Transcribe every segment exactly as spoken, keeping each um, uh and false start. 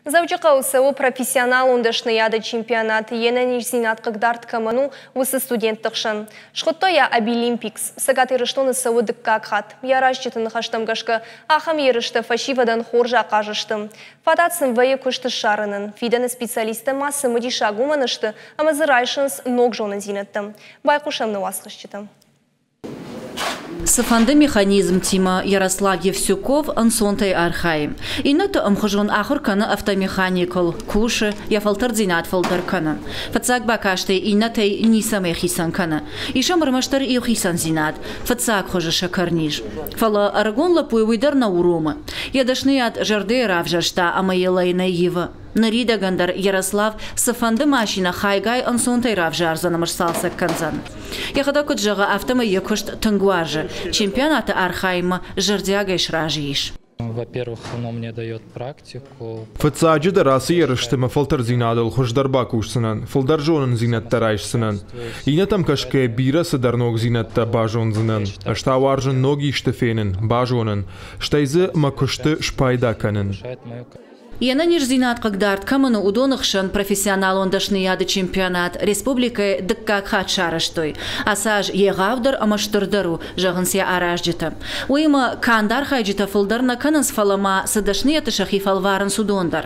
Дзӕуджыхъӕуы цӕуы профессионалон дӕсныйады чемпионат, йе нӕниздзинад хъыгдард кӕмӕн у, уыцы студентты хсӕн. Схуыдтой йӕ Абилимпикс. Цӕгат Ирыстоны цӕуы дыккаг хатт. Йӕ аразджыты ныхӕстӕм гӕсгӕ, ахӕм ерыстӕ фӕсивӕдӕн хорз ахъаз сты. Фадат сын вӕййы куыст ссарынӕн. Фидӕны специалисттӕ ма цымыдисаг уымӕн сты, ӕмӕ дзы райсынц ног зонындзинӕдтӕ. Байхъусӕм нӕ уацхӕсджытӕм. Цыфӕнды механизмтимӕ Ярослав Евсюков ӕнцонтӕй архайы. Иннӕты ӕмхуызон ахуыр кӕны автомеханикыл, кусы, йӕ фӕлтӕрддзинад фылдӕр кӕны. Фыццаг бакастӕй иннӕтӕй ницӕмӕй хицӕн кӕны. Ис ӕм ӕрмӕстдӕр иу хицӕндзинад – фыццаг хуызы сӕкӕрниз. Фӕлӕ ӕрыгон лӕппуйы уый дӕр нӕ уромы. Йӕ дӕсныйад зӕрдӕйы равзӕрста ӕмӕ йыл ӕй нӕ ивы. Ныридӕгӕн дӕр Ярослав цыфӕнды машинӕ хайгай ӕнцонтӕй равзардзӕн ӕмӕ сцалцӕг кӕндзӕн. Йӕхӕдӕг куыд зӕгъы, афтӕмӕй йӕ куыст тынг уарзы. Чемпионаты архайынмӕ зӕрдиагӕй сразы ис. Во-первых, оно мне дает практику. Фыццаджыдӕр ацы ерысты мӕ фӕлтӕрддзинадыл хуыздӕр бакусдзынӕн, фылдӕр зонындзинӕдтӕ райсдзынӕн. Иннӕтӕм кӕсгӕйӕ бирӕ цыдӕр ногдзинӕдтӕ базондзынӕн. Ӕз та уарзын ног исты фенын, базонын, стӕй дзы мӕ куысты спайда кӕнын. Йе нӕниздзинад хъыгдард кӕмӕн у, уыдоны хсӕн профессионалон дӕсныйады чемпионат республикӕйы дыккаг хатт сарӕзтой. Ацы аз егъаудӕр ӕмӕ стырдӕр у, зӕгъынц йӕ аразджытӕ. Уыимӕ канд архайджытӕ фылдӕр нӕ кӕнынц, фӕлӕ ма цы дӕсныйӕдты сӕхи фӕлварынц, уыдон дӕр.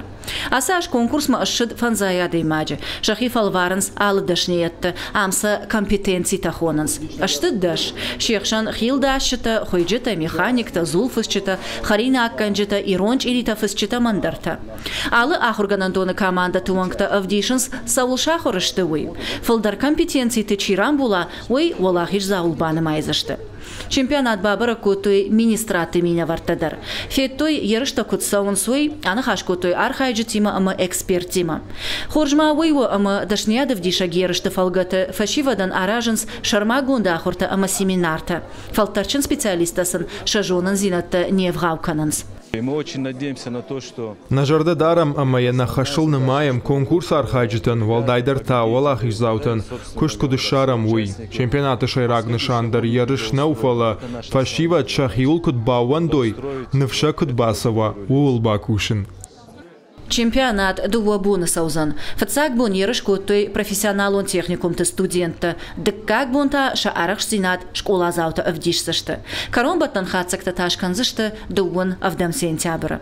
Ацы аз конкурсмӕ ссыд фӕндзай адӕймаджы. Сӕхи фӕлварынц алы дӕсныйӕдты, ам сӕ компетенцитӕ хонынц. Сты дӕс. Се хсӕн хилдасджытӕ, хуыйджытӕ, механиктӕ, дзулфыцджытӕ, хӕринаггӕнджытӕ, ирон чъиритӕ фыцджытӕ ӕмӕ ӕндӕртӕ. Алы ахуыргӕнӕндоны командӕты уӕнгтӕ ӕвдисынц, цӕуыл сахуыр сты, уый. Фылдӕр компетенциты чи рамбула, уый уӕлахиздзауыл банымайдзысты. Чемпионат бабӕрӕг кодтой министрадты минӕвӕрттӕ дӕр. Федтой, ерыстӕ куыд цӕуынц, уый, аныхас кодтой архайджытимӕ ӕмӕ эксперттимӕ. Хорз ма уый у, ӕмӕ дӕсныйад ӕвдисӕг ерысты фӕлгӕты фӕсивӕдӕн аразынц сӕрмагонд ахуыртӕ ӕмӕ семинартӕ. Фӕлтӕрдджын специалисттӕ сын сӕ зонындзинӕдтӕ не вгъау кӕнынц. Мы очень надеемся на то, что Нӕ зӕрдӕ дарӕм ӕмӕ йӕ нӕ хӕсыл нымайӕм конкурсы архайджытӕн, уӕлдайдӕр та уӕлахиздзаутӕн, куыст куыд ссарӕм, уый. Чемпионаты сӕйраг нысан дӕр ерыс нӕу, фӕлӕ фӕсивӕд сӕхиуыл куыд баууӕндой, ныфс сӕ куыд бацӕуа, ууыл бакусын. Чемпионат дыууӕ боны цӕудзӕн. Фыццаг бон ерыс кодтой профессионалон техникумты студенттӕ, дыккаг бон та сӕ арӕхстдзинад скъоладзаутӕ ӕвдисдзысты. Кӕронбӕттӕн хатдзӕгтӕ та скӕндзысты дыууын ӕвдӕм сентябры.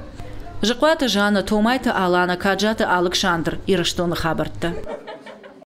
Зыхъуаты Жанна, Томайты Алана, Каджаты Алыксандр, Ирыстоны хабӕрттӕ.